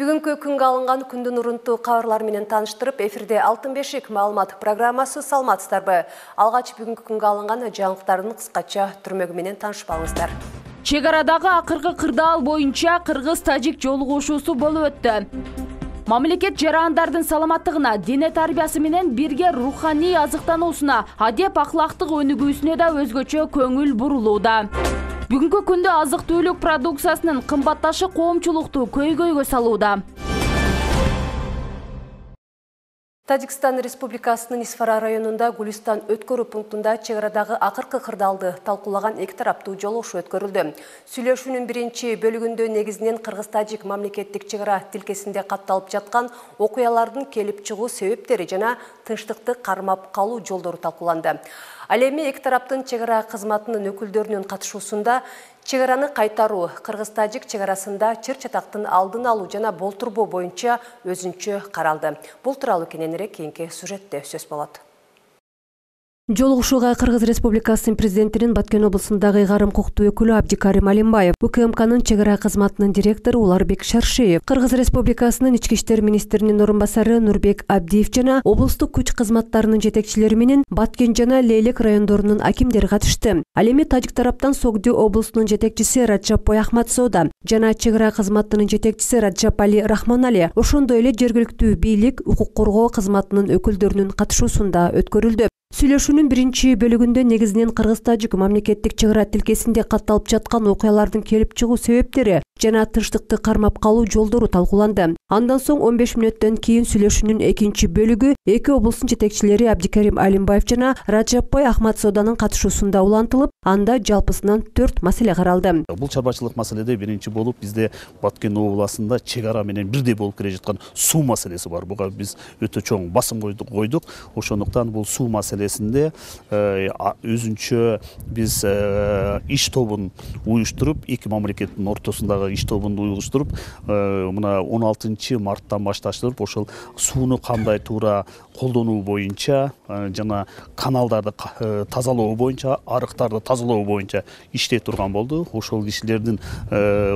Бүгүнкү күнгө алынган күндүн урунтуу кабарлар менен тааныштырып, эфирде Алтын бешик маалымат программасы саламатсыздарбы. Алгач бүгүнкү күнгө алынган жаңылыктардын кыскача түрмөгү менен таанышып алыңыздар. Чек арадагы акыркы кырдаал боюнча кыргыз-тажик жолугушуусу болуп өттү. Мамлекет жарандардын саламаттыгына, дене тарбиясы менен бирге руханий азыктануусуна, адеп ахлактык өнүгүүсүнө да өзгөчө көңүл бурулууда. Бүгүнкү күндө азык-түлүк продукциясынын кымбатташы коомчулукту көйгөйгө салууда. Тажикстан Республикасынын Исфара районунда Гулистан өткөрүү пунктунда чек арадагы акыркы кырдаалды талкуулаган эки тараптуу жолугушуу өткөрүлдү. Сүйлөшүүнүн биринчи бөлүгүндө негизинен кыргыз-тажик мамлекеттик чек ара тилкесинде катталып жаткан окуялардын келип чыгуу себептери жана тынчтыкты кармап калуу жолдору талкууланды. Ал эми эки тараптын чек ара кызматынын өкүлдөрүнүн катышуусунда чек араны кайтаруу, кыргыз-тажик чек арасында чыр-чатактын алдын алуу жана болтурбоо боюнча өзүнчө каралды. Бул тууралуу кененирээк кийинки сюжетте сөз болот. Жолугушууга Кыргыз Республикасынын президентинин Баткен облусундагы ыйгарым укуктуу өкүлү Абдикарим Алимбаев, УКМКнын чек ара кызматынын директору Уларбек Шаршеев, Кыргыз Республикасынын ички иштер министринин орун басары Нурбек Абдиев жана облустук күч кызматтарынын жетекчилери менен Баткен жана Лейлек райондорунун акимдери катышты. Ал эми тажик тараптан Согду облусунун жетекчиси Раджапбой Ахматзода жана чек ара кызматынын жетекчиси Раджап Али Рахманали, ошондой эле жергиликтүү бийлик, укук коргоо кызматынын өкүлдөрүнүн катышуусунда өткөрүлдү. Сүйлөшүүнүн биринчи бөлүгүндө негизинен кыргыз-тажик мамлекеттик чек ара тилкесинде катталып жаткан окуялардын келип чыгуу себептери жана тынчтыкты кармап калуу жолдору талкууланды. Андан соң 15 мүнөттөн кийин сүйлөшүүнүн экинчи бөлүгү эки облустун жетекчилери Абдикарим Алимбаев жана Раджапбой Ахматзоданын катышуусунда улантылып, анда жалпысынан 4 маселе каралды. Бул чарбачылык маселеде биринчи болуп бизде Баткен областында чек ара менен бирдей болуп келе жаткан суу маселеси бар. Буга биз өтө чоң басым койдук. Ошондуктан бул суу маселесинде өзүнчө биз иш тобун уюштуруп, эки мамлекеттин ортосундагы иш тобун уюштуруп, мына 16 марттан башташтырып, ошол сууну кандай туура колдонуу боюнча жана каналдарды тазалоо боюнча, арыктарды тазалоо боюнча иштей турган болду. Ошол кишилердин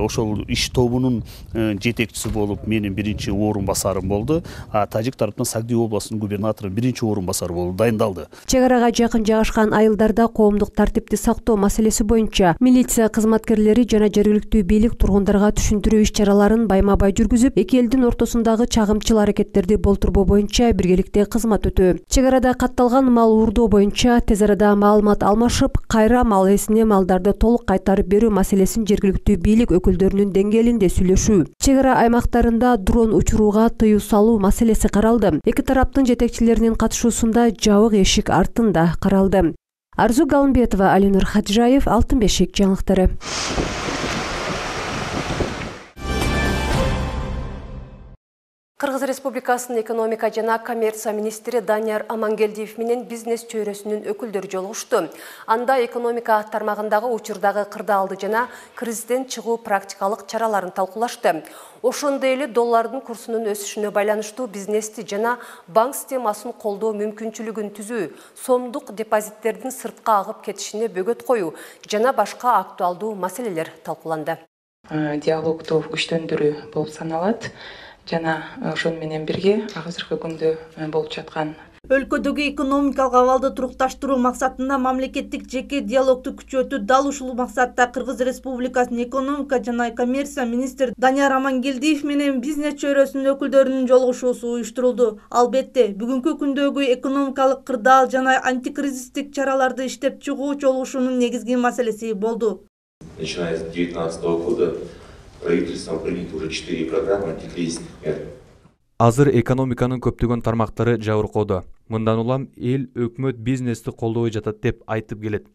ошол иш тобунун жетекчиси болуп менин биринчи орун басарым болду. Тажик тараптан Согду областынын губернатору биринчи орун басары болуп дайындалды. Чек арага жакын жайгашкан айылдарда коомдук тартипти сактоо маселеси боюнча милиция кызматкерлери жана жергиликтүү бийлик тургундарга түшүндүрүү иш-чараларын байма-бай жүргүзүп, эки элдин ортосундагы чагымчыл аракеттерди болтурбоо боюнча биргеликте кызмат өтүү. Чек арада катталган мал уурдоо боюнча тез арада маалымат алмашып, кайра мал ээсине малдарды толук кайтарып берүү маселесин жергиликтүү бийлик өкүлдөрүнүн деңгээлинде сүйлөшүү. Чек ара аймактарында дрон учурууга тыюу салуу маселеси каралды. Эки тараптын жетекчилеринин катышуусунда жабык эшик артында каралды. Арзу Галымбетова, Алинур Хаджаев, Алтын бешик жаңылыктары. Кыргыз Республикасынын экономика жана коммерция министри Данияр Амангелдиев менен бизнес чөйрөсүнүн өкүлдөрү жолугушту. Анда экономика тармагындагы учурдагы кырдаалды жана кризистен чыгуу практикалык чараларын талкуулашты. Ошондой эле доллардын курсунун өсүшүнө байланыштуу бизнести жана банк системасын колдоо мүмкүнчүлүгүн түзүү, сомдук депозиттердин сыртка агып кетишине бөгөт коюу жана башка актуалдуу маселелер талкууланды. Диалогду күчтөндүрүү болуп саналат. Жана ошон менен бирге азыркы күндө болуп жаткан өлкөдөгү экономикалык абалды турукташтыруу максатында мамлекеттик жеке диалогду күчөтүү дал ушул максатта Кыргыз Республикасынын экономика жана коммерция министри Данияр Амангелдиев менен бизнес чөйрөсүнүн өкүлдөрүнүн жолугушуусу уюштурулду. Албетте, бүгүнкү күндөгү экономикалык кырдаал жана антикризистик чараларды иштеп чыгуу жолугушуунун негизги маселеси болду. Начиная с 2019 года правительством принято уже 4 программы антикризисных мер. Азыр экономиканын көптөгөн тармактары жабыркоодо. Мындан улам эл өкмөт бизнести колдобой жатат деп айтып келет.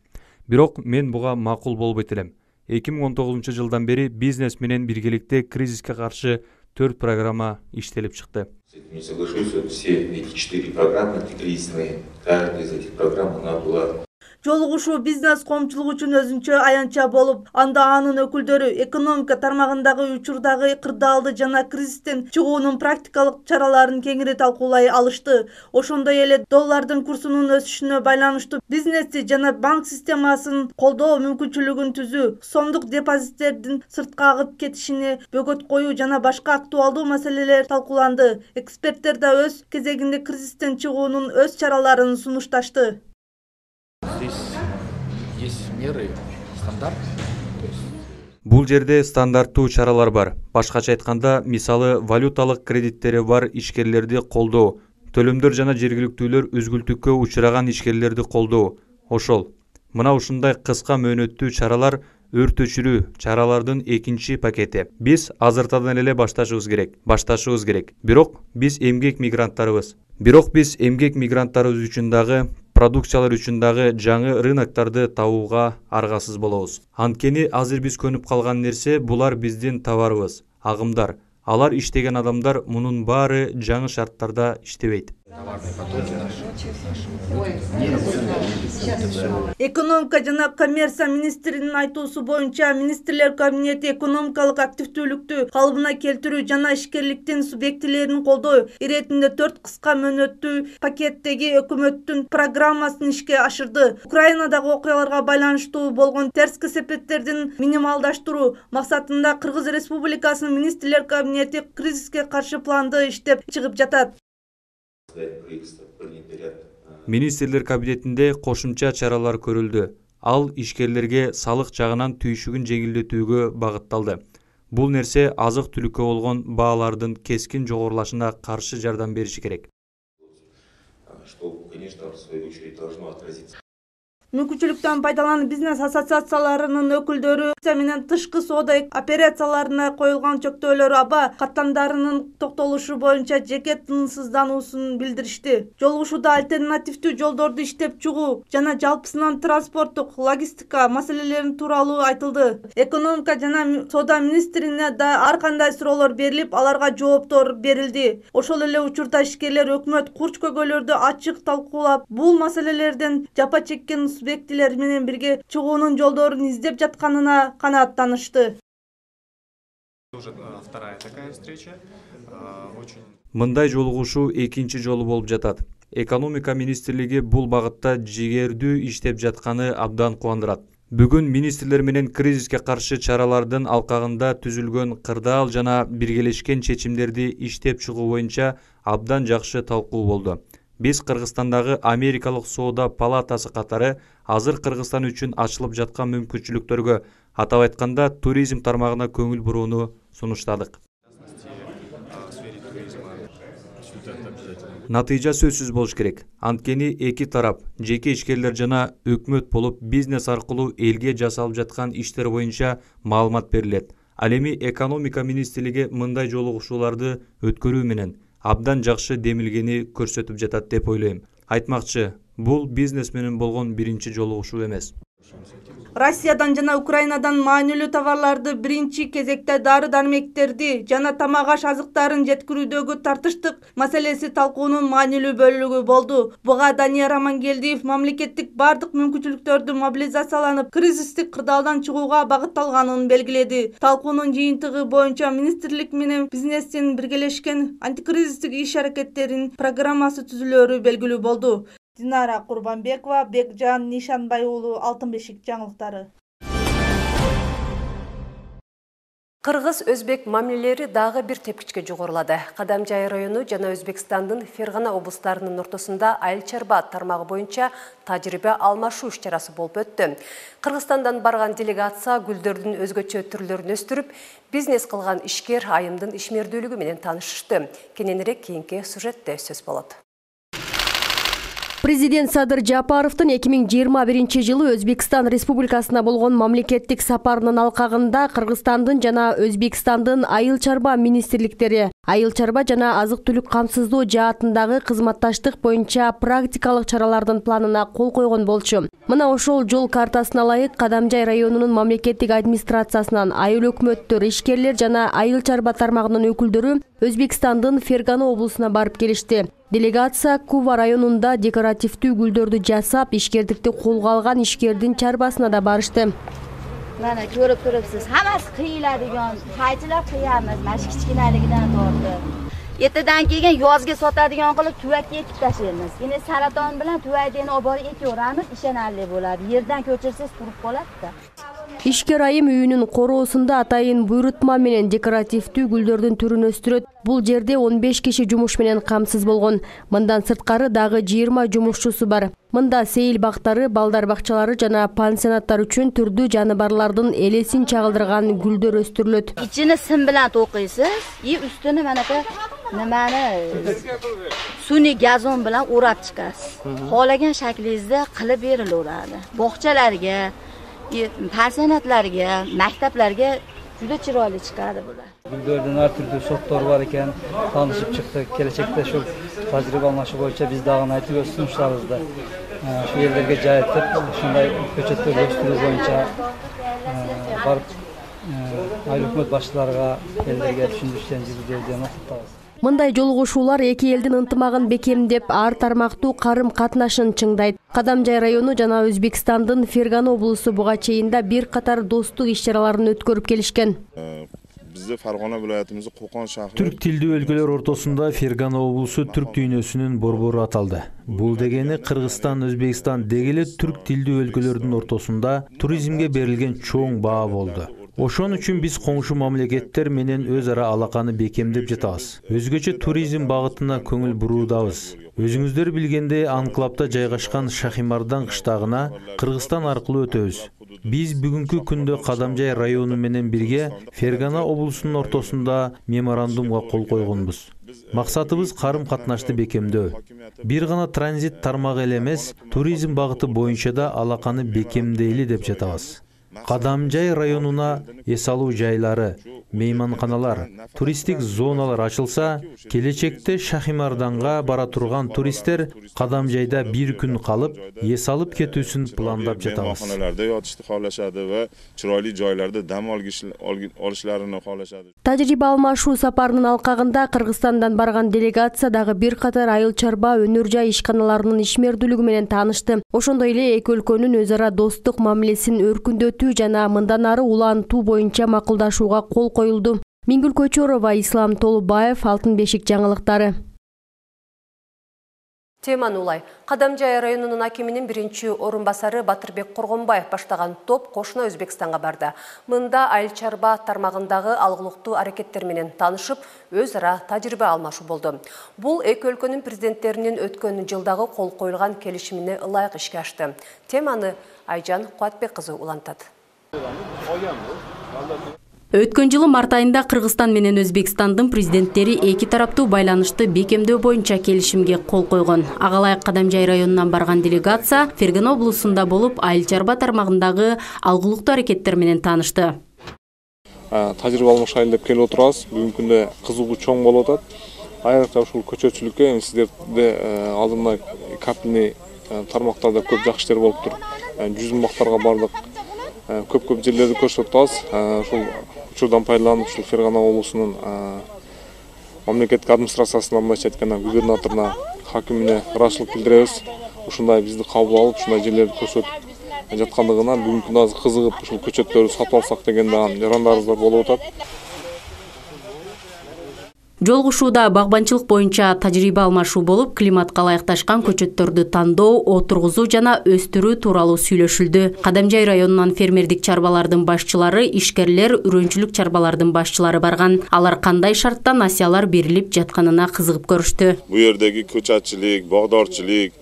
Бирок мен буга макул болбойт элем. 2019 жылдан бери бизнес менен биргеликте кризиске каршы 4 программа иштелип чыкты. Не соглашусь, все эти 4 программы антикризисные, каждая из этих программ она была. Жолугушуу бизнес коомчулук үчүн өзүнчө аянтча болуп, анда анын өкүлдөрү экономика тармагындагы учурдагы кырдаалды жана кризистен чыгуунун практикалык чараларын кеңири талкуулай алышты. Ошондой эле доллардын курсунун өсүшүнө байланыштуу бизнести жана банк системасын колдоо мүмкүнчүлүгүн түзүү, сомдук депозиттердин сыртка агып кетишине бөгөт коюу жана башка актуалдуу маселелер талкууланды. Эксперттер да өз кезегинде кризистен чыгуунун өз чараларын сунушташты. Есть меры, стандарт. Бул жерде стандарттуу чаралар бар. Башкача айтканда, мисалы валюталык кредиттери бар ишкерлерди колдоо, төлөмдөр жана жергиликтүүлөр үзгүлтүккө учураган ишкерлерди колдоо. Ошол. Мына ушундай кыска мөөнөттүү чаралар өртөчүрүү чаралардын экинчи пакети. Биз азыртадан эле башташыбыз керек. Бирок биз эмгек мигранттарыбыз үчүн дагы, продукциялар үчүн дагы жаңы рыноктарды табууга аргасыз болобуз. Анткени азыр биз көнүп калган нерсе булар биздин товарыбыз, агымдар. Алар иштеген адамдар мунун баары жаңы шарттарда иштебейт. Экономика жана коммерция министринин айтуусу боюнча, министрлер кабинети экономикалык активдүүлүктү калыбына келтирүү жана ишкерликтин субъектилерин колдоо иретинде 4 кыска мөөнөттүү пакеттеги өкмөттүн программасын ишке ашырды. Украинадагы окуяларга байланыштуу болгон терс кесепеттердин минималдаштыруу максатында Кыргыз Республикасынын министрлер кабинети кризиске каршы планды иштеп чыгып жатат. Министрлер кабинетинде кошумча чаралар көрүлдү. Ал ишкерлерге салык жагынан түйшүгүн жеңилдетүүгө багытталды. Бул нерсе азык-түлүккө болгон баалардын кескин жогорулашына каршы жардам бериши керек. Мүмкүнчүлүктөн пайдаланып бизнес ассоциацияларынын өкүлдөрү менен тышкы соода операцияларына коюлган чектөөлөр аба каттамдарынын токтолушу боюнча жеке тынчсыздануусун билдиришти. Жолугушууда альтернативдүү жолдорду иштеп чыгуу жана жалпысынан транспорттук, логистика маселелери тууралуу айтылды. Экономика жана соода министрине да ар кандай суроолор берилип, аларга жооптор берилди. Ошол эле учурда ишкерлер өкмөт курч көйгөйлөрдү ачык талкуулап, бул маселелерден жапа чеккен субъектилер менен бирге чыгуунун жолдорун издеп жатканына канааттанышты. Мындай жолугушуу экинчи жолу болуп жатат. Экономика министрлиги бул багытта жигердүү иштеп жатканы абдан кубандырат. Бүгүн министрлер менен кризиске каршы чаралардын алкагында түзүлгөн кырдаал жана биргелешкен чечимдерди иштеп чыгуу боюнча абдан жакшы талкуу болду. Биз Кыргызстандагы Америкалык соода палатасы катары азыр Кыргызстан үчүн ачылып жаткан мүмкүнчүлүктөргө, атап айтканда туризм тармагына көңүл бурууну сунуштадык. Натыйжа сөзсүз болуш керек. Анткени эки тарап, жеке ишкерлер жана өкмөт болуп бизнес аркылуу элге жасалып жаткан иштер боюнча маалымат берилет. Ал эми экономика министрлиги мындай жолугушууларды өткөрүү менен абдан жакшы демилгени көрсөтүп жатат деп ойлойм. Айтмакчы, бул бизнес менен болгон биринчи жолугушуу эмес. Россиядан жана Украинадан маанилүү товарларды биринчи кезекте дары-дармектерди жана тамак-аш азыктарын жеткирүүдөгү тартыштык маселеси талкуунун маанилүү бөлүгү болду. Буга Данияр Амангелдиев мамлекеттик бардык мүмкүнчүлүктөрдү мобилизацияланып, кризистик кырдаалдан чыгууга багытталганын белгиледи. Талкуунун жыйынтыгы боюнча министрлик менен бизнестин биргелешкен антикризистик иш-аракеттеринин программасы түзүлөрү белгилүү болду. Динара Курбанбекова, Бекжан Нишанбай уулу, Алтын бешик жаңылыктары. Кыргыз-өзбек мамилелери дагы бир тепкичке жогорулады. Кадамжай району жана Өзбекстандын Фергана облустарынын ортосунда айыл чарба тармагы боюнча тажрыйба алмашуу иш-чарасы болуп өттү. Кыргызстандан барган делегация гүлдөрдүн өзгөчө түрлөрүн өстүрүп, бизнес кылган ишкер айымдын ишмердүүлүгү менен таанышышты. Кененирээк кийинки сюжетте сөз болот. Президент Садыр Жапаровдун 2021 Өзбекстан Республикасына болгон мамлекеттик сапарынын алкагында Кыргызстандын жана Өзбекстандын айыл чарба министрликтери Айыл чарба жана азык түлүк камсыздоо жаатындагы кызматташтык боюнча практикалык чаралардын планына кол койгон болчу. Мына ошол жол картасына ылайык Кадамжай районунун мамлекеттик администрациясынан айыл өкмөттөр, ишкерлер жана айыл чарба тармагынын өкүлдөрү Өзбекстандын Фергана облусуна барып келишти. Делегация Кува районунда декоративдүү гүлдөрдү жасап, ишкердикти колго алган ишкердин чарбасына да барышты. Mana ko'rib turibsiz, hammasi qiyiladigan, qaychilar qiyamiz, mana shu kichkinaligidan tortib. Ertadan keyin yozga sotadigan qilib tuvakka ekib tashlaymiz. Endi saraton bilan tuvakni olib borib ekaveramiz, ishonarli bo'ladi. Yerdan ko'chirsangiz turib qoladi-da. Ишкер айым үйүнүн короосунда атайын буйрутма менен декоративдүү гүлдөрдүн түрүн өстүрөт. Бул жерде 15 киши жумуш менен камсыз болгон. Мындан сырткары дагы 20 жумушчусу бар. Мында сейил бактары, балдар бакчалары жана пансионаттар үчүн түрдүү жаныбарлардын элесин чагылдырган гүлдөр өстүрүлөт. Ичини сым менен токуйсуз, үстүнү манакы nimani sun'iy gazon bilan o'rab chiqasiz. Xohlagan shaklingizda qilib berilaveradi. Bog'chalarga, pensionatlarga, maktablarga juda chiroyli chiqadi bular. Gullardan har turli sortlar var ekan, tanışıp çıktık. Gelecekte şu tajriba almaşı boyunca biz dağın aytib sunuşlarımızda şu yerlerge joy etip, şunday köçetler gösteriş boyunca barıp ayыл өкмөт башчыларга, элдерге түшүндүрүштерин жүргүзүүдөн максаттабыз. Мындай жолугушуулар эки элдин ынтымагын бекемдеп, ар тармактуу карым катнашын чыңдайт. Кадамжай району жана Өзбекстандын Фергана облусу буга чейинде бир катар достук иш-чараларын өткөрүп келишкен. Бизде Фаргана вилаятыбызда Кокон шаары Түрк тилдүү өлкөлөр ортосунда Фергана облусу түрк дүйнөсүнүн борбору аталды. Бул дегени Кыргызстан, Өзбекстан дегеле түрк тилдүү өлкөлөрдүн ортосунда туризмге берилген чоң баа болду. Ошон үчүн биз коңшу мамлекеттер менен өз ара алаканы бекемдеп жатабыз. Өзгөчө туризм багытына көңүл буруудабыз. Өзүңүздөр билгендей, анклавда жайгашкан Шахимардан кыштагына Кыргызстан аркылуу өтөбүз. Биз бүгүнкү күндө Кадамжай району менен бирге Фергана облусунун ортосунда меморандумга кол койгонбуз. Максатыбыз карым катнашты бекемдөө. Бир гана транзит тармагы эле эмес, туризм багыты боюнча да алаканы бекемдейли деп жатабыз. Кадамжай районуна эс алуу жайлары, мейманканалар, туристтик зоналар ачылса, келечекте Шахимарданга бара турган туристтер Кадамжайда бир күн калып, эс алып кетүүсүн пландап жатабыз. Мейманканаларда yotishni xohlashadi va chiroyli joylarda dam olishlarini xohlashadi. Тажрыйба алмашуу сапарынын алкагында Кыргызстандан барган делегация дагы бир катар айыл чарба өнөр жай ишканаларынын ишмердүүлүгү менен таанышты. Ошондой эле эки өлкөнүн өз ара достук мамилесин өркүндөтүү жана мындан ары улантуу боюнча макулдашууга кол коюлду. Мингүл Көчөрова, Ислам Толубаев, Алтын бешик жаңылыктары. Теманы улай. Кадамжай районунун акиминин биринчи орун басары Батырбек Коргонбаев баштаган топ кошуна Өзбекстанга барды. Мында айыл чарба тармагындагы алгылыктуу аракеттер менен таанышып, өз ара тажрыйба алмашуу болду. Бул эки өлкөнүн президенттеринин өткөн жылдагы кол коюлган келишимине ылайык ишке ашты. Теманы Айжан Куатбек кызы улантат. Өткөн жылы март айында Кыргызстан менен Өзбекстандын президенттери эки тараптуу байланышты бекемдөө боюнча келишимге кол койгон. Ага ылайык Кадамжай районунан барган делегация Фергана облусунда болуп, айыл чарба тармагындагы алгылыктуу аракеттер менен таанышты. Тажрыйба алмашайлы деп келип отурабыз. Бүгүнкү күндө кызыгуу чоң болуп атат. Айрыкча ушул көчөтчүлүккө сиздерде алдында капельный тармактарда көп жакшы иштер болуптур. Жүзүм бактарга бардык. Көп жерлерди көрсөтүп атабыз. Ушул учурдан пайдаланып, ушул Фергана облусунун мамлекеттик администрациясына, мындайча айтканда, губернаторуна, хакимине ыраазычылык билдиребиз. Ушундай бизди кабыл алып, ушундай жерлерди көрсөтүп жаткандыгына бүгүнкү күндө азыр кызыгып, ушул көчөттөрдү сатып алсак деген жарандарыбыздар болуп атат. Жолугушууда багбанчылык боюнча тажрыйба алмашуу болуп, климатка ылайыкташкан көчөттөрдү тандоо, отургузуу жана өстүрүү тууралуу сүйлөшүлдү. Кадамжай районунан фермердик чарбалардын башчылары, ишкерлер, үрөнчүлүк чарбалардын башчылары барган. Алар кандай шартта насыялар берилип жатканына кызыгып көрүштү. Бу жердеги көчөтчүлүк, багдорчулук,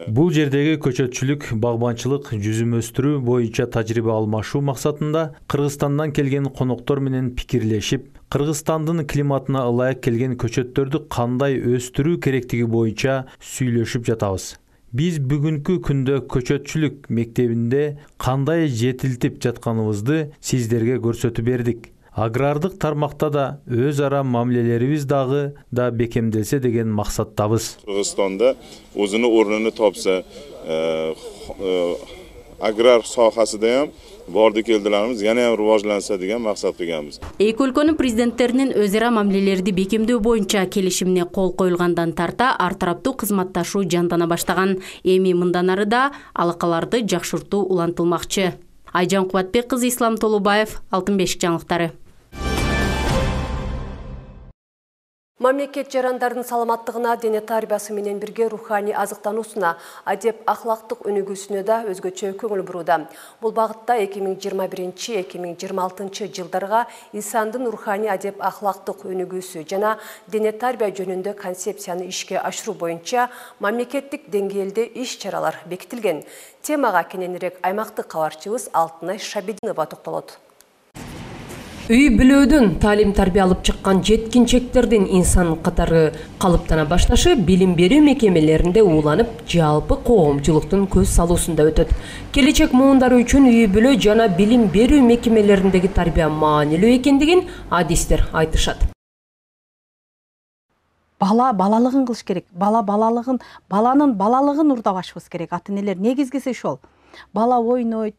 Бул жердеги көчөтчүлүк, багбанчылык, жүзүм өстүрүү боюнча тажрыйба алмашуу максатында Кыргызстандан келген коноктор менен пикирлешип, Кыргызстандын климатына ылайык келген көчөттөрдү кандай өстүрүү керектиги боюнча сүйлөшүп жатабыз. Биз бүгүнкү күндө көчөтчүлүк мектебинде кандай жетилтип жатканыбызды сиздерге көрсөтүп бердик. Агрардык тармакта да өз ара мамилелерибиз дагы да бекемделсе деген максаттабыз. Кыргызстанда өзүнүн орнуну топса, аграр sohasida ham bordi keldilarimiz yana ham rivojlansa degan maqsad qilganmiz. Эки өлкөнүн президенттеринин өз ара мамилелерди бекемдөө боюнча келишимине кол коюлгандан тарта ар тараптуу кызматташуу жандана баштаган. Эми мындан ары да алакаларды жакшыртуу улантылмакчы. Айжан Кубатбек кызы, Ислам Толубаев, Алтын бешик жаңылыктары. Мамлекет жарандардын саламаттыгына, дене тарбиясы менен бирге руханий азыктануусуна, адеп ахлактык өнүгүүсүнө да өзгөчө көңүл бурууда. Бул багытта 2021-2026 жылдарга инсандын руханий адеп ахлактык өнүгүүсү жана дене тарбия жөнүндө концепцияны ишке ашыруу боюнча мамлекеттик деңгээлде иш-чаралар бекитилген. Темага кененирээк аймактык кабарчыбыз Алтынай Шабидинова токтолот. Үй бүлөөдөн таалим-тарбия алып чыккан жеткинчектердин инсан катары калыптана башташы билим берүү мекемелеринде ууланып, жалпы коомчулуктун көз салуусунда өтөт. Келечек муундары үчүн үй бүлө жана билим берүү мекемелериндеги тарбия маанилүү экендигин адистер айтышат. Бала балалыгын кылыш керек. Баланын балалыгын урдабашыбыз керек. Ата-энелер негизгиси ошол. Бала ойнойт,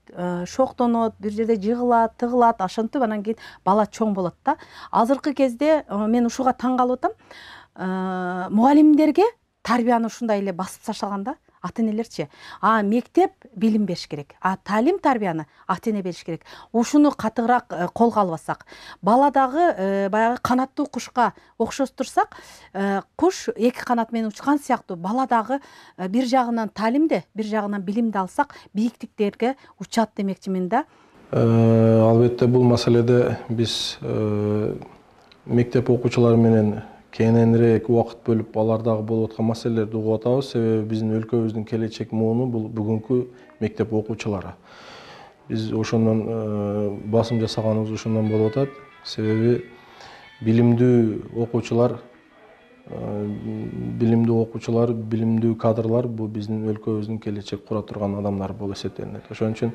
шоктонот, бир жерде жыгылат, тыгылат, ошентип анан кийин бала чоң болот да. Азыркы кезде мен ушуга таң калып атам. Мугалимдерге тарбияны ушундай эле басып таштаган да. Ата-энелерчи. Мектеп билим бериш керек. Таалим-тарбияны ата-эне бериш керек. Ушуну катыгыраак колго албасак, бала дагы баягы канаттуу кушка окшоштурсак, куш эки канат менен учкан сыяктуу бала дагы бир жагынан таалимде, бир жагынан билимди алсак, бийиктиктерге учат демекчимин да. Албетте бул маселеде биз мектеп окуучулары менен кененирээк убакыт бөлүп алардагы болуп аткан маселелерди угуп атабыз. Себеби биздин өлкөбүздүн келечек мууну бул бүгүнкү мектеп окуучулары. Биз ошондон басым жасаганыбыз ошондон болуп атат. Себеби билимдүү окуучулар, билимдүү кадрлар бул биздин өлкөбүздүн келечек кура турган адамдар болуп эсептелинет. Ошон үчүн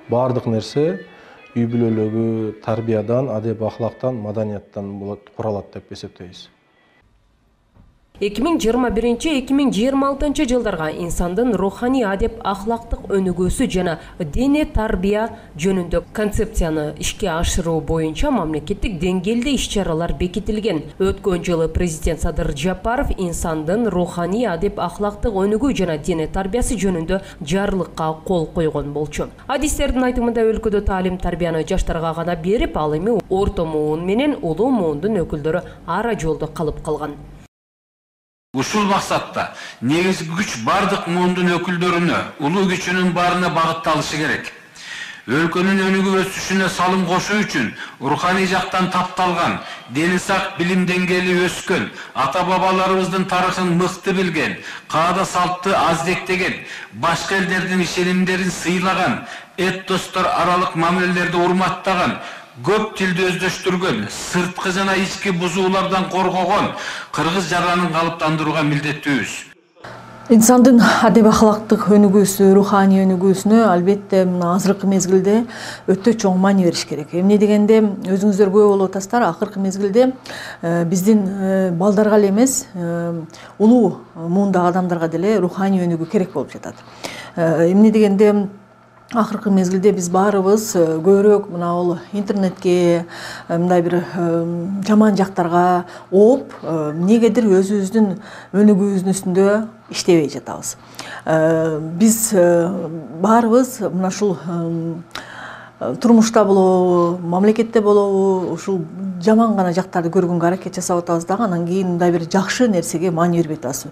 баардык нерсе үй бүлөлөгү тарбиядан, адеп ахлактан, маданияттан куралат деп эсептейбиз. 2021-2026 жылдарга инсандын руханий адеп ахлактык өнүгүүсү жана дене тарбия жөнүндө концепцияны ишке ашыруу боюнча мамлекеттик деңгээлде иш-чаралар бекитилген. Өткөн жылы президент Садыр Жапаров инсандын руханий адеп ахлактык өнүгүү жана дене тарбиясы жөнүндө жарлыкка кол койгон болчу. Адистердин айтымында өлкөдө таалим-тарбияны жаштарга гана берип, ал эми орто муун менен улуу муундун өкүлдөрү ара жолдо калып калган. Ушул максатта негизги күч бардык муундун өкүлдөрүнө, улуу күчүнүн баарына багытталышы керек. Өлкөнүн өнүгүп өсүшүнө салым кошуу үчүн руханий жактан тапталган, дени сак билим деңгээли өскөн, ата-бабаларыбыздын тарыхын мыкты билген, каада салтты аздектеген, башка элдердин ишенимдерин сыйлаган, этностор аралык мамилелерди урматтаган, көп тилди өздөштүргөн, сырткы жана ички бузуулардан коргогон кыргыз жаранын калыптандырууга милдеттүүбүз. Инсандын адеп ахлактык өнүгүүсү, руханий өнүгүүсүнө албетте азыркы мезгилде өтө чоң маани бериш керек. Эмне дегенде өзүңүздөр күбө болуп атасыздар, акыркы мезгилде биздин балдарга эле эмес, улуу муундагы адамдарга деле руханий өнүгүү керек болуп жатат. Эмне дегенде акыркы мезгилде биз баарыбыз көбүрөөк мына бул интернетке, мындай бир жаман жактарга ооп, эмнегедир өзүбүздүн өнүгүүбүздүн үстүндө иштебей жатабыз. Биз баарыбыз мына ушул турмушта болобу, мамлекетте болобу, ушул жаман гана жактарды көргөнгө аракет жасап атабыз дагы, анан кийин мындай бир жакшы нерсеге маани бербей атабыз.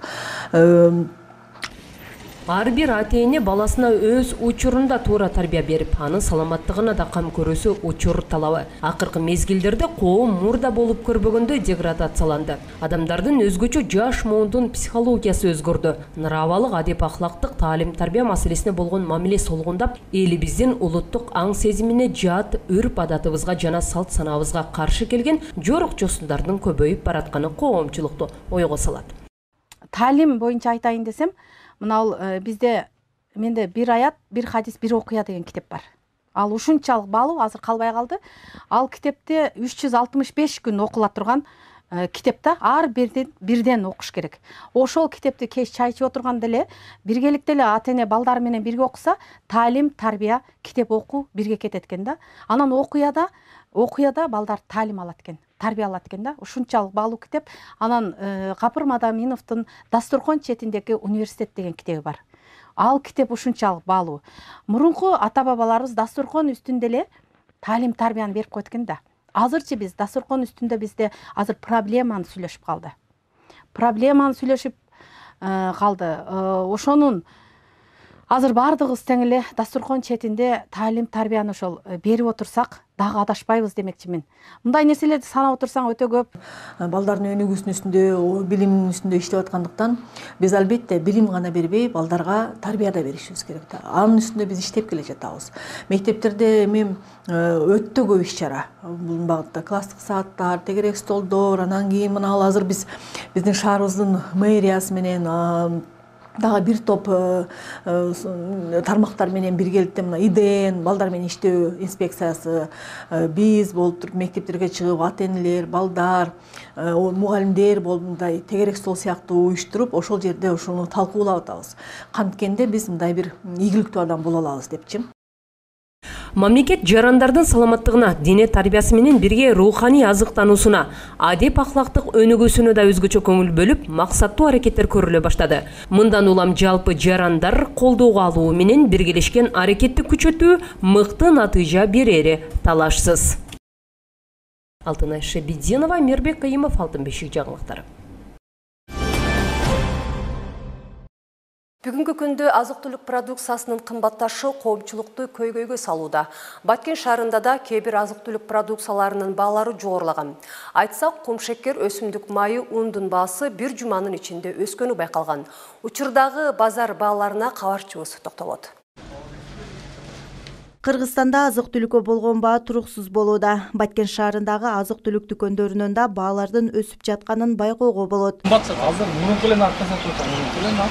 Ар бир ата-эне баласына өз учурунда туура тарбия берип, анын саламаттыгына да кам көрүүсү учур талабы. Акыркы мезгилдерде коом мурда болуп көрбөгөндөй деградацияланды. Адамдардын өзгөчө жаш муундун психологиясы өзгөрдү. Нравалык адеп ахлактык таалим-тарбия маселесине болгон мамиле солгундап, элибиздин улуттук аң сезимине жат үрп-адатыбызга жана салт санаабызга каршы келген жорук жосундардын көбөйүп баратканы коомчулукту ойго салат. Таалим боюнча айтайын десем, мына бул менде бир аят, бир хадис, бир окуя деген китеп бар. Ал ушунчалык баалуу азыр калбай калды. Ал китепте 365 күн окула турган китеп да, ар бирден окуш керек. Ошол китепти кеч чай ичип отурганда эле биргеликте эле ата эне балдары менен бирге окуса, таалим, тарбия, китеп окуу бирге кетет экен да. Анан окуяда балдар таалим алат экен, тарбия алат экен да. Ушунчалык баалуу китеп. Анан Капыр Мадаминовдун Дастуркон четиндеги университет деген китеби бар. Ал китеп ушунчалык баалуу. Мурунку ата-бабаларыбыз дастуркон үстүндө эле таалим, тарбияны берип койт экен да. Азырчы биз дастуркон үстүндө бизде азыр проблеманы сүйлөшүп калды. Ошонун азыр бардыгыбыз тең эле дастуркон четинде таалим, тарбияны ошол берип отурсак дагы адашпайбыз демекчимин. Мындай нерселерди санап отурсаң өтө көп. Балдардын өнүгүүсүнүн үстүндө, билиминин үстүндө иштеп аткандыктан биз албетте билим гана бербей, балдарга тарбия да беришибиз керек. Анын үстүндө биз иштеп келе жатабыз. Мектептерде эми өтө көп иш-чара бул багытта. Класстык сааттар, тегерек столдор, анан кийин мына азыр биздин шаарыбыздын мэриясы менен дагы бир топ тармактар менен биргеликте мына ИДН, балдар менен иштөө инспекциясы, биз болуп туруп мектептерге чыгып ата-энелер, балдар, мугалимдер болуп мындай тегерек стол сыяктуу уюштуруп, ошол жерде ошону талкуулап атабыз. Канткенде биз мындай бир ийгиликтүү адам боло алабыз депчи. Мамлекет жарандардын саламаттыгына, дене тарбиясы менен бирге руханий азыктануусуна, адеп ахлактык өнүгүүсүнө да өзгөчө көңүл бөлүп, максаттуу аракеттер көрүлө баштады. Мындан улам жалпы жарандар колдоого алуу менен биргелешкен аракетти күчөтүү мыкты натыйжа берери талашсыз. Алтынай Шебединова, Мирбек Кайымов, Алтын бешик жаңылыктары. Бүгүнкү күндө азык-түлүк продукциясынын кымбатташы коомчулукту көйгөйгө салууда. Баткен шаарында да кээ бир азык-түлүк продукцияларынын баалары жогорулаган. Айтсак, кумшекер, өсүмдүк майы, ундун баасы бир жуманын ичинде өскөнү байкалган. Учурдагы базар бааларына кабарчыбыз токтолот. Кыргызстанда азык-түлүккө болгон баа туруксуз болууда. Баткен шаарындагы азык-түлүк дүкөндөрүнөн да баалардын өсүп жатканын байкоого болот. Азыр мурунку эле наркы сатып атат.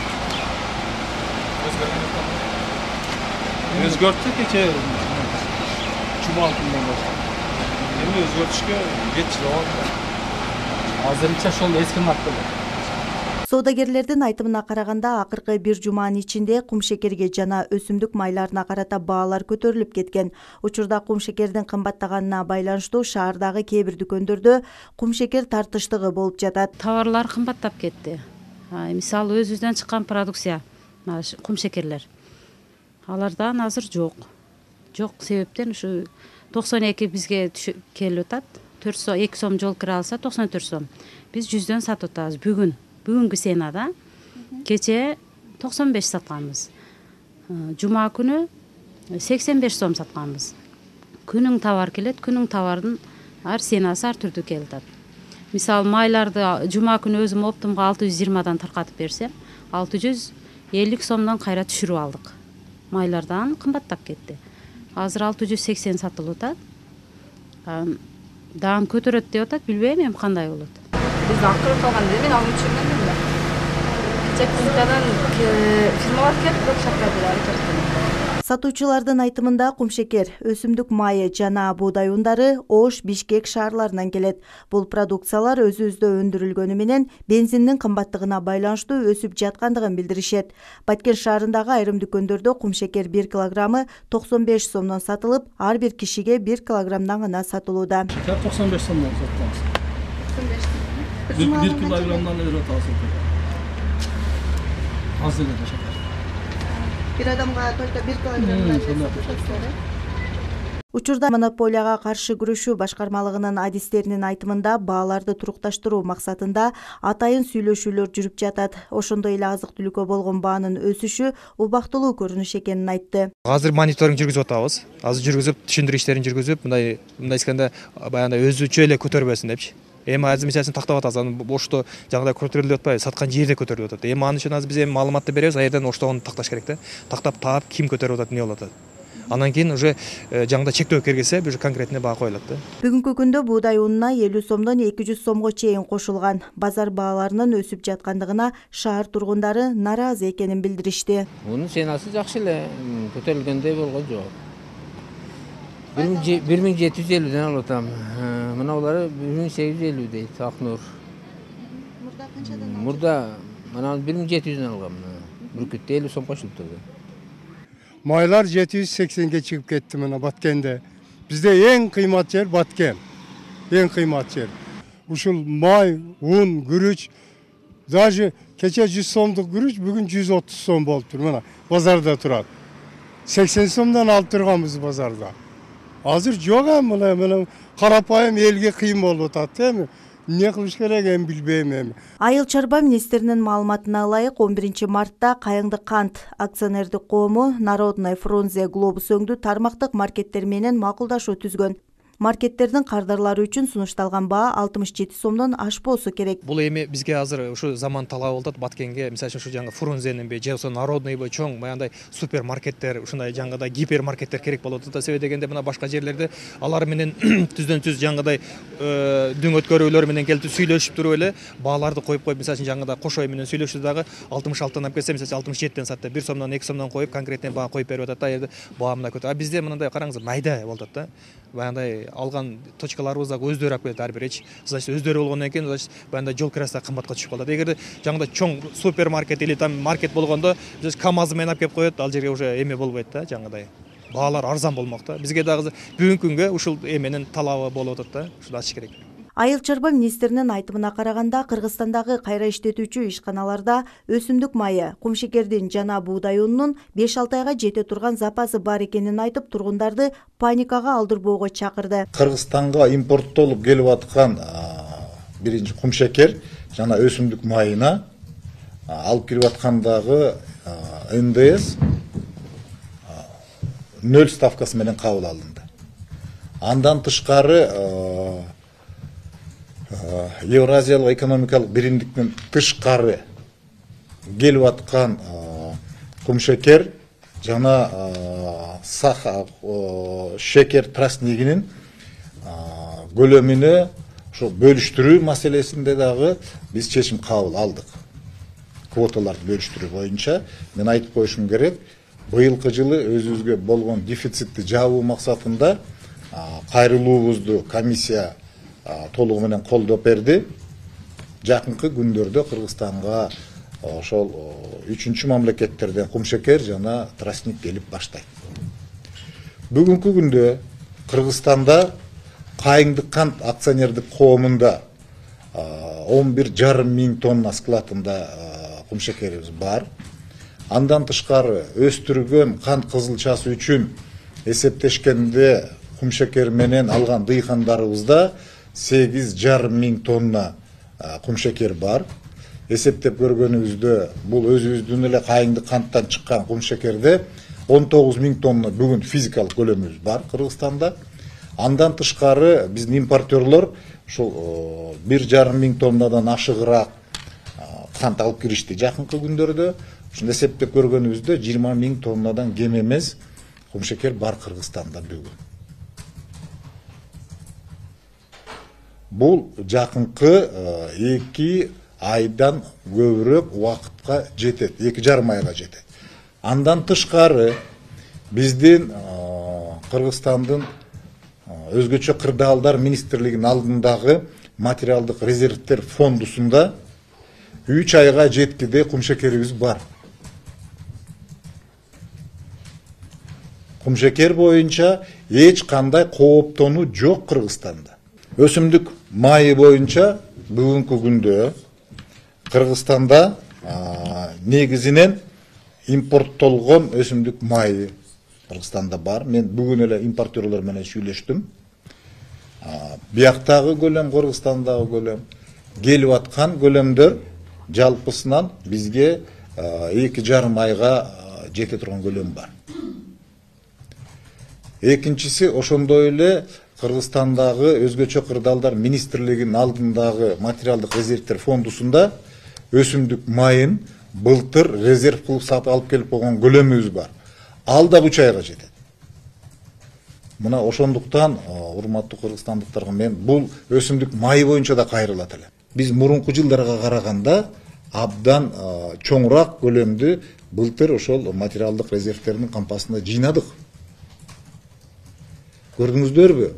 Өзгөрттү кече жума күнүнөн баштап. Эми өзгөртүшкө кеч болот. Азырынча ошол эски наркы. Соодагерлердин айтымына караганда, акыркы бир жуманын ичинде кумшекерге жана өсүмдүк майларына карата баалар көтөрүлүп кеткен. Учурда кумшекердин кымбаттаганына байланыштуу шаардагы кээ бир дүкөндөрдө кумшекер тартыштыгы болуп жатат. Товарлар кымбаттап кетти. Мисалы өзүбүздөн чыккан продукция, кумшекерлер. Алардан азыр жок. Жок себептен ушу 92 бизге келип атат. 2 сом жол кире алса 94 сом. Биз 100дөн сатып атабыз бүгүнкү сенада. Кече 95 сатканбыз. Жума күнү 85 сом сатканбыз. Күнүң товар келет, күнүң товардын ар сенасы ар түрдүү келип атат. Мисалы майларды жума күнү өзүм оптумга 620дан таркатып берсем, 650 сомдон кайра түшүрүп алдык. Майлардан кымбаттап кетти. Азыр 680 сатылып атат. Даан көтөрөт деп атат, билбейм эми кандай болот. Биз акыры калганда мен алып жүргөндүм да. Чекинтадан фирмалар келип шакырдылар айтып. Сатуучулардын айтымында кумшекер, өсүмдүк майы жана буудай ундары Ош, Бишкек шаарларынан келет. Бул продукциялар өзүбүздө өндүрүлгөнү менен бензиндин кымбаттыгына байланыштуу өсүп жаткандыгын билдиришет. Баткен шаарындагы айрым дүкөндөрдө кумшекер 1 килограммы 95 сомдон сатылып, ар бир кишиге 1 килограммдан гана сатылууда. 95 сомдон сатабыз. 1 килограммдан өрөт алсак. Азыр эле шакар. Бир адамга только 1 килограммдан сатылат. Учурда монополияга каршы күрөшүү башкармалыгынын адистеринин айтымында бааларды турукташтыруу максатында атайын сүйлөшүүлөр жүрүп жатат. Ошондой эле азык-түлүккө болгон баанын өсүшү убактылуу көрүнүш экенин айтты. Азыр мониторинг жүргүзүп атабыз. Азыр жүргүзүп, түшүндүрүү иштерин жүргүзүп, мындай эскенде баягындай өзүчө эле көтөрбөсүн депчи. Эми азыр мисалын тактап атабыз, аны бошто жагдай көтөрүлүп атпайбы, саткан жерде көтөрүлүп атат. Эми аны үчүн азыр биз эми маалыматты беребиз, аерден оштогон такташ керек да. Тактап таап, ким көтөрүп атат, эмне болуп атат. Анан кийин уже жаңда чектөө киргизе, уже конкретный баа коюлат да. Бүгүнкү күндө буудай унуна 50 сомдон 200 сомго чейин кошулган. Базар бааларынын өсүп жаткандыгына шаар тургундары нааразы экенин билдиришти. Мунун ценасы жакшы эле, көтөрүлгөндөй болгон жок. 1750'den alıtam. Mınavları 1850 deydi Aknur. Burada mana 1700'den algam. Burkut'ta 50 so'm qo'shilib turdi. Maylar 780'ge çıkıp gitti mana Batkende. Bizde en kıymat yer Batken. En kıymat yer. Uşul may, un, gürüç, даже keçe 100 so'mduk gürüç bugün 130 so'm bo'lib tur mana bozorda turadi. 80 so'mdan alып turganбыз bozorda. Азыр жок мына карапайым элге кыйын болуп атат, эми эмне кылыш керек эми билбейм эми. Айыл чарба министринин маалыматына ылайык 11 мартта Кайыңды кант акционердик коому Народный Фрунзе Глобус өңдүү тармактык маркеттер менен макулдашуу түзгөн. Маркеттердин кардарлары үчүн сунушталган баа 67 сомдон ашпоосу керек. Бул эми бизге азыр ушу заман талабы болуп атат. Баткенге мисалы үчүн ушу жаңы Фрунзенинби же болсо Народныйбы чоң баягындай супермаркеттер, ушундай жаңгыдай гипермаркеттер керек болуп атат. Себеби дегенде мына башка жерлерде алар менен түздөн түз жаңгыдай дүң өткөрүүлөр менен келип сүйлөшүп туруп эле бааларды коюп мисалы үчүн жаңгыдай кошой менен сүйлөшүп дагы 66-тан алып келсе, мисалы 67-тен сатты 1 сомдон 2 сомдон коюп конкретный баа коюп берип атат да. Жерде баа мындай көтө. А бизде мындай караңыз майда болуп атат да. Баягындай алган точкаларыбыз дагы өздөрү алып келет ар бир. Значит, өздөрү болгондон кийин, значит, баягындай жол кирасы кымбатка түшүп калат. Эгерде жаңгыдай чоң супермаркет или там маркет болгондо, биз КАМАЗ менен алып келип коет, ал жерге уже эме болбойт да, жаңгыдай. Баалар арзан болмок да. Бизге дагы бүгүнкү күнгө ушул эменин талабы болуп атат да. Ушуну ачыш керек. Айыл чарба министринин айтымына караганда, Кыргызстандагы кайра иштетүүчү ишканаларда өсүмдүк майы, кумшекердин жана буудай унунун 5-6 айга жете турган запасы бар экенин айтып, тургундарды паникага алдырбоого чакырды. Кыргызстанга импорттолуп келип аткан биринчи кумшекер жана өсүмдүк майына алып кирип аткандагы НДС 0 ставкасы менен кабыл алынды. Андан тышкары Евразиялык экономикалык биримдиктен тышкары келип аткан кумшекер жана шекер тростнигинин көлөмүнө ошо бөлүштүрүү маселесинде дагы биз чечим кабыл алдык. Квоталарды бөлүштүрүү боюнча мен айтып коюшум керек, быйылкы жылы өзүбүзгө болгон дефицитти жабуу максатында кайрылуубузду комиссия толугу менен колдоп берди. Жакынкы күндөрдө Кыргызстанга ошол 3-чү мамлекеттерден кумшекер жана тростник келип баштайт. Бүгүнкү күндө Кыргызстанда Кайыңды кант акционердик коомунда 11,5 миң тонна складында кумшекерибиз бар. Андан тышкары өстүргөн кант кызылчасы үчүн эсептешкенде кумшекер менен алган дыйкандарыбызда 8,5 миң тонна кумшекер бар. Эсептеп көргөнүбүздө бул өзүбүздүн эле Кайыңды канттан чыккан кумшекерде 19 миң тонна бүгүн физикалык көлөмүбүз бар Кыргызстанда. Андан тышкары биздин импортерлор ушул 1,5 миң тоннадан ашыгыраак кант алып киришти жакынкы күндөрдө. Ушуну эсептеп көргөнүбүздө 20 миң тоннадан кем эмес кумшекер бар Кыргызстанда бүгүн. Бул жакынкы 2 айдан көбүрөөк убакытка жетет, 2,5 айга жетет. Андан тышкары биздин Кыргызстандын өзгөчө кырдаалдар министрлигинин алдындагы материалдык резервдер фондусунда 3 айга жеткиде кумшекерибиз бар. Кумшекер боюнча эч кандай кооптонуу жок Кыргызстанда. Өсүмдүк майы боюнча бүгүнкү күндө Кыргызстанда негизинен импорттолгон өсүмдүк майы Кыргызстанда бар. Мен бүгүн эле импортерлор менен сүйлөштүм. Бияктагы көлөм, Кыргызстандагы көлөм, келип аткан көлөмдөр жалпысынан бизге 2,5 айга жете турган көлөм бар. Экинчиси ошондой эле Кыргызстандагы өзгөчө кырдаалдар министрлигинин алдындагы материалдык резервдер фондусунда өсүмдүк майын былтыр резерв кылып сатып алып келип койгон көлөмүбүз бар. Ал да 3 айга жетет. Мына ошондуктан урматтуу кыргызстандыктарга мен бул өсүмдүк майы боюнча да кайрылат эле. Биз мурунку жылдарга караганда абдан чоңураак көлөмдү былтыр ошол материалдык резервдердин кампасында жыйнадык. Көрдүңүздөрбү?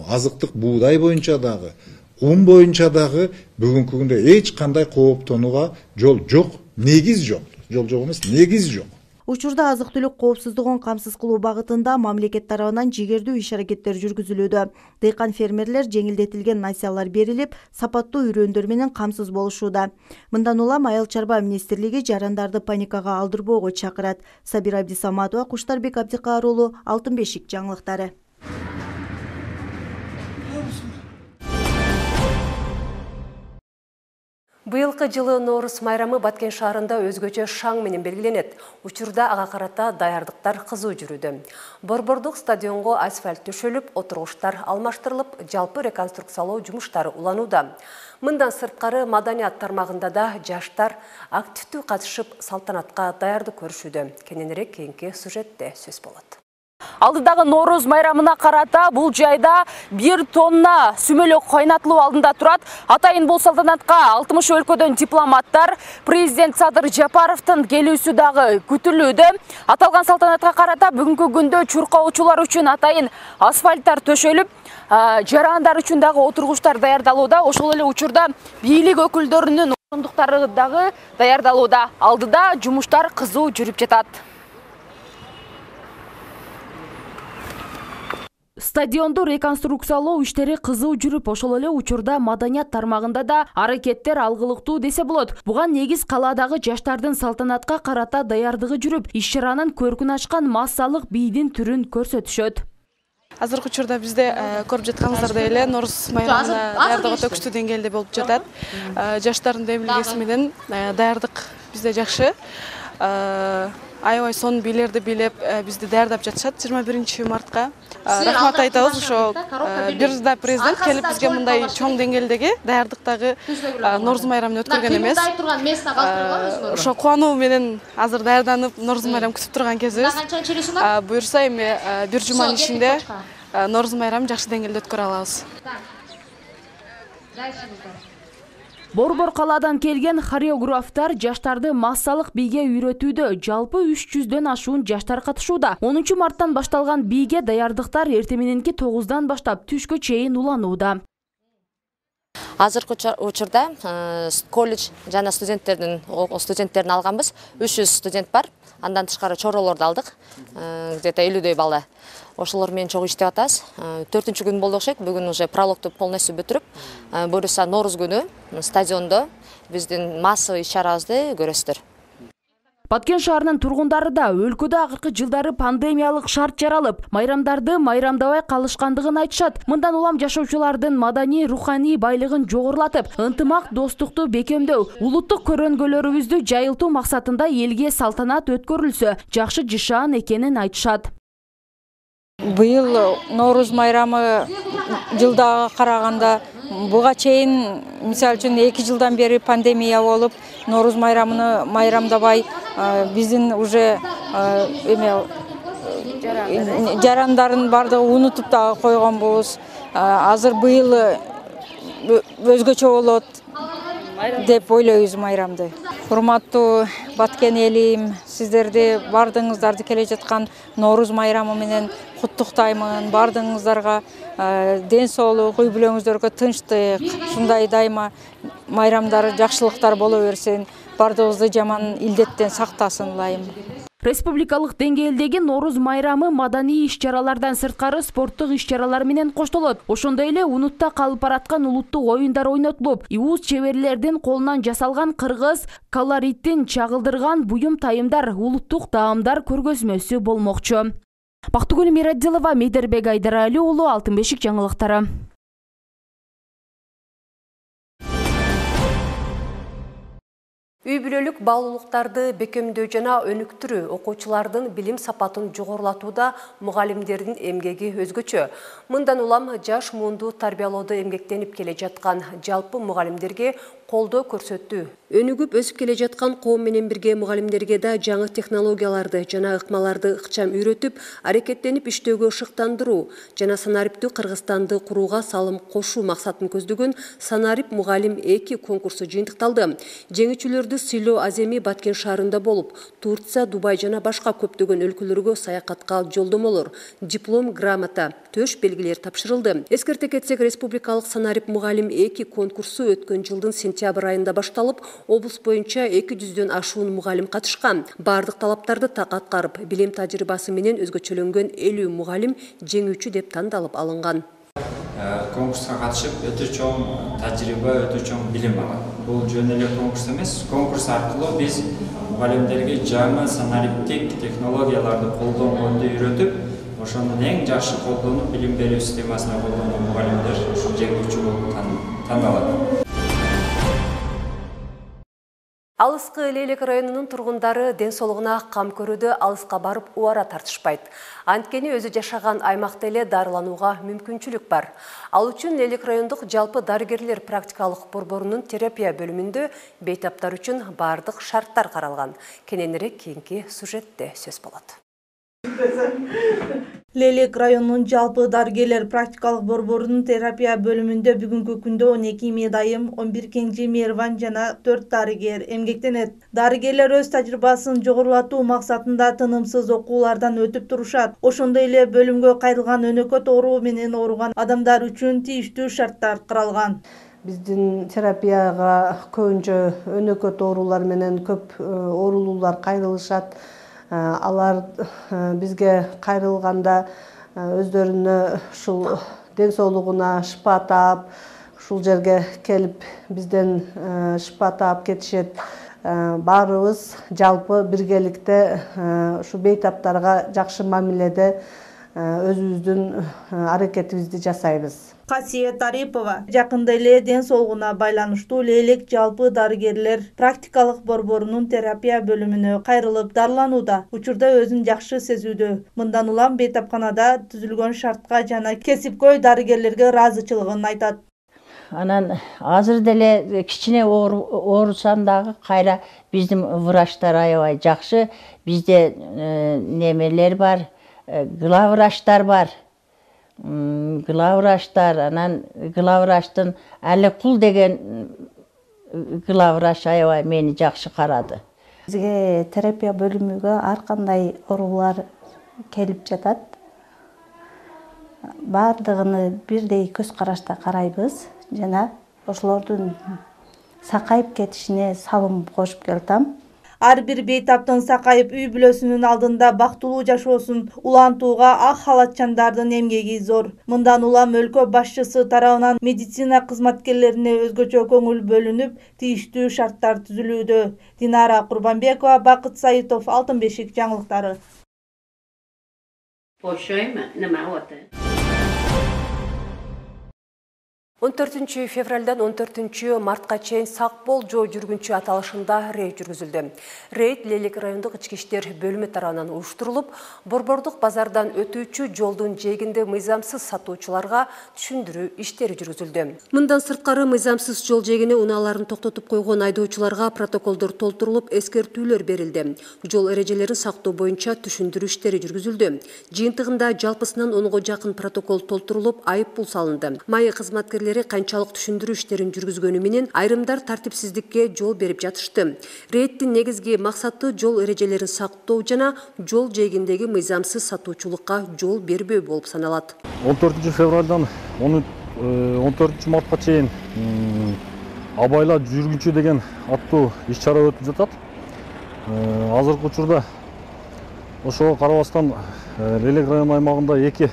Азыктык буудай боюнча дагы, кум боюнча дагы бүгүнкү күндө эч кандай кооптонууга жол жок, негиз жок. Жол жок эмес, негиз жок. Учурда азык-түлүк коопсуздугун камсыз кылуу багытында мамлекет тарабынан жигердүү иш-аракеттер жүргүзүлүүдө. Дыйкан фермерлер жеңилдетилген насыялар берилип, сапаттуу үрөндөр менен камсыз болушууда. Мындан улам Айыл чарба министрлиги жарандарды паникага алдырбоого чакырат. Сабира Абдисаматова, Куштарбек Абдикаар уулу, Алтын бешик жаңылыктары. Быйылкы жылы Нооруз майрамы Баткен шаарында өзгөчө шаң менен белгиленет. Учурда ага карата даярдыктар кызуу жүрүүдө. Борбордук стадионго асфальт төшөлүп, отургучтар алмаштырылып, жалпы реконструкциялоо жумуштары уланууда. Мындан сырткары маданият тармагында да жаштар активдүү катышып, салтанатка даярдык көрүшүүдө. Кененирээк кийинки сюжетте сөз болот. Алдыдагы Нооруз майрамына карата бул жайда 1 тонна сүмөлөк кайнатылуу алдында турат. Атайын бул салтанатка 60 өлкөдөн дипломаттар, президент Садыр Жапаровдун келүүсү дагы күтүлүүдө. Аталган салтанатка карата бүгүнкү күндө чуркоочулар үчүн атайын асфальттар төшөлүп, жарандар үчүн дагы отургучтар даярдалууда. Ошол эле учурда бийлик өкүлдөрүнүн орундуктары дагы даярдалууда. Алдыда жумуштар кызуу жүрүп жатат. Стадионду реконструкциялоо иштери кызуу жүрүп, ошол эле учурда маданият тармагында да аракеттер алгылыктуу десе болот. Буга негиз калаадагы жаштардын салтанатка карата даярдыгы жүрүп, иш-чаранын көркүн ачкан массалык бийдин түрүн көрсөтүшөт. Азыркы учурда бизде көрүп жатканыңыздардай эле Нооруз майрамына даярдык өтө күчтүү деңгээлде болуп жатат. Жаштардын демилгеси менен даярдык бизде жакшы. Аябай сонун бийлерди бийлеп бизди даярдап жатышат 21 мартка. Рахмат айтабыз, ошо бир да президент келип бизге мындай чоң деңгээлдеги даярдыктагы Нооруз майрамын өткөргөн эмес. Ошо кубануу менен азыр даярданып Нооруз майрам күтүп турган кезибиз. Буюрса эми бир жуманын ичинде Нооруз майрамын жакшы деңгээлде өткөрө алабыз. Борбор калаадан келген хореографтар жаштарды массалык бийге үйрөтүүдө. Жалпы 300дөн ашуун жаштар катышууда. 10 марттан башталган бийге даярдыктар эртең мененки 9-дан баштап түшкө чейин уланууда. Азыркы учурда колледж жана студенттерин алганбыз. 300 студент бар. Андан тышкары чоролорду алдык. Где-то 50дөй бала. Ошолор менен чогуу иштеп атабыз. 4-күн болду окшойт. Бүгүн уже прологду полностью бүтүрүп, буюрса Нооруз күнү стадиондо биздин массовый иш-чарабызды көрөсүздөр. Баткен шаарынын тургундары да өлкөдө акыркы жылдары пандемиялык шарт жаралып, майрамдарды майрамдабай калышкандыгын айтышат. Мындан улам жашоочулардын маданий, руханий байлыгын жогорулатып, ынтымак, достукту бекемдөө, улуттук көрөнгөлөрүбүздү жайылтуу максатында элге салтанат өткөрүлсө, жакшы жышаан экенин айтышат. Быйыл Нооруз майрамы жылдага караганда буга чейин, мисалы үчүн 2 жылдан бери пандемия болуп, Нооруз майрамыны майрамдабай биздин уже жарандарын бардыгы унутуп дагы койгонбуз. Азыр быйыл өзгөчө болот деп ойлойбуз майрамды. Урматтуу Баткен элим, сиздерди бардыгыңыздарды келе жаткан Нооруз майрамы менен куттуктаймын. Бардыгыңыздарга ден соолук, үй бүлөңүздөргө тынчтык, ушундай дайыма майрамдары жакшылыктар боло берсин. Бардыгыбызды жаман илдеттен сактасын ылайым. Республикалык деңгээлдеги Нооруз майрамы маданий иш-чаралардан сырткары спорттук иш-чаралар менен коштолот. Ошондой эле унутта калып бараткан улуттук оюндар ойнотулуп, иуз чеберлердин колунан жасалган кыргыз колоритин чагылдырган буюм тайымдар, улуттук даамдар көргөзмөсү болмокчу. Бактыгүл Мирадилова, Мейдербек Айдарали уулу, Алтын бешик жаңылыктары. Үй бүлөлүк баалуулуктарды бекемдөө жана өнүктүрүү окуучулардын билим сапатын жогорулатууда мугалимдердин эмгеги өзгөчө. Мындан улам жаш муунду тарбиялоодо эмгектенип келе жаткан жалпы мугалимдерге колдоо көрсөттү. Өнүгүп өсүп келе жаткан коом менен бирге мугалимдерге да жаңы технологияларды жана ыкмаларды ыкчам үйрөтүп, аракеттенип иштөөгө шыктандыруу жана санариптүү Кыргызстанды курууга салым кошуу максатын көздөгөн Санарип мугалим 2 конкурсу жыйынтыкталды. Жеңүүчүлөрдү сыйлоо Аземи Баткен шаарында болуп, Турция, Дубай жана башка көптөгөн өлкөлөргө саякатка жолдомолор, диплом, грамота, төш белгилер тапшырылды. Эскерте кетсек, республикалык Санарип мугалим 2 конкурсу өткөн жылдын сентябрь айында башталып, облус боюнча 200дөн ашуун мугалим катышкан. Бардык талаптарды так аткарып, билим тажрыйбасы менен өзгөчөлөнгөн 50 мугалим жеңүүчү деп тандалып алынган. Конкурска катышып, өтө чоң тажрыйба, өтө чоң билим алат. Бул жөн эле конкурс эмес. Конкурс аркылуу биз мугалимдерге жаңы санариптик технологияларды колдонгонду үйрөтүп, ошонун эң жакшы колдонуп, билим берүү системасына колдонгон мугалимдер ушул жеңүүчү болуп тандалат. Алыскы Лейлек районунун тургундары ден соолугуна кам көрүүдө алыска барып убара тартышпайт. Анткени өзү жашаган аймакта эле дарыланууга мүмкүнчүлүк бар. Ал үчүн Лейлек райондук жалпы дарыгерлер практикалык борборунун терапия бөлүмүндө бейтаптар үчүн бардык шарттар каралган. Кененирээк кийинки сюжетте сөз болот. Лейлек районунун жалпы дарыгерлер практикалык борборунун терапия бөлүмүндө бүгүнкү күндө 12 медайым, 11 кенже мейрбан жана 4 дарыгер эмгектенет. Дарыгерлер өз тажрыйбасын жогорулатуу максатында тынымсыз окуулардан өтүп турушат. Ошондой эле бөлүмгө кайрылган өнөкөт оору менен ооруган адамдар үчүн тийиштүү шарттар каралган. Биздин терапияга көбүнчө өнөкөт оорулар менен көп оорулуулар кайрылышат. Алар бизге кайрылганда өздөрүнө ушул ден соолугуна шыпа таап, ушул жерге келип бизден шыпа таап кетишет. Баарыбыз жалпы биргеликте ушу бейтаптарга жакшы мамиледе өзүбүздүн аракетибизди жасайбыз. Касиет Арипова жакында эле ден соолугуна байланыштуу Лейлек жалпы дарыгерлер практикалык борборунун терапия бөлүмүнө кайрылып дарыланууда. Учурда өзүн жакшы сезүүдө. Мындан улам бейтапканада түзүлгөн шартка жана кесипкөй дарыгерлерге ыраазычылыгын айтат. Анан азыр деле кичине оорусам дагы кайра биздин врачтар аябай жакшы. Бизде немелер бар, главврачтар бар. Главврачтар, анан главврачтын Аликул деген главврач аябай мени жакшы карады. Бизге терапия бөлүмүгө ар кандай оорулар келип жатат. Бардыгыны бирдей көз карашта карайбыз жана ошолордун сакайып кетишине салым кошуп келатам. Ар бир бейтаптын сакайып үй бүлөсүнүн алдында бактылуу жашоосун улантууга ак халатчандардын эмгеги зор. Мындан улам өлкө башчысы тарабынан медицина кызматкерлерине өзгөчө көңүл бөлүнүп, тийиштүү шарттар түзүлүүдө. Динара Курбанбекова, Бакыт Саитов, Алтын бешик жаңылыктары. 14 февралдан 14 мартка чейин сак бол жол жүргүнчү аталышында рейд жүргүзүлдү. Рейд Лейлек райондук ички иштер бөлүмү тарабынан уюштурулуп, борбордук базардан өтүүчү жолдун жээгинде мыйзамсыз сатуучуларга түшүндүрүү иштери жүргүзүлдү. Мындан сырткары мыйзамсыз жол жээгине унааларын токтотуп койгон айдоочуларга протоколдор толтурулуп, эскертүүлөр берилди. Жол эрежелерин сактоо боюнча түшүндүрүү иштери жүргүзүлдү. Жыйынтыгында жалпысынан 10го жакын протокол толтурулуп, айып пул салынды. Майы кызматкерлери канчалык түшүндүрүү иштерин жүргүзгөнү менен айрымдар тартипсиздикке жол берип жатышты. Рейдтин негизги максаты жол эрежелерин сактоо жана жол жээгиндеги мыйзамсыз сатуучулукка жол бербөө болуп саналат. 14 февралдан 14 мартка чейин абайла жүргүнчү деген аттуу иш-чара өтүп жатат. Азыркы учурда ошого карабастан Лейлек району аймагында 2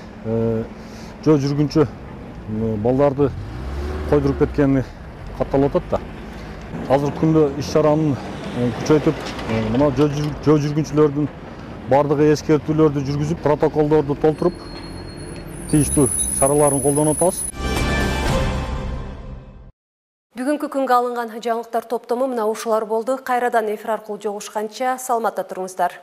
жол жүргүнчү балдарды койдуруп кеткени катталып атат да. Азыркы күндө иш-чаранын күчөйтүп, мына жол жүргүнчүлөрдүн бардыгы эскертүүлөрдү жүргүзүп, протоколдорду толтуруп, тийиштүү чараларын колдонуп атабыз. Бүгүнкү күнгө алынган жаңылыктар топтому мына ушулар болду. Кайрадан эфир аркылуу жолугушканча саламатта туруңуздар.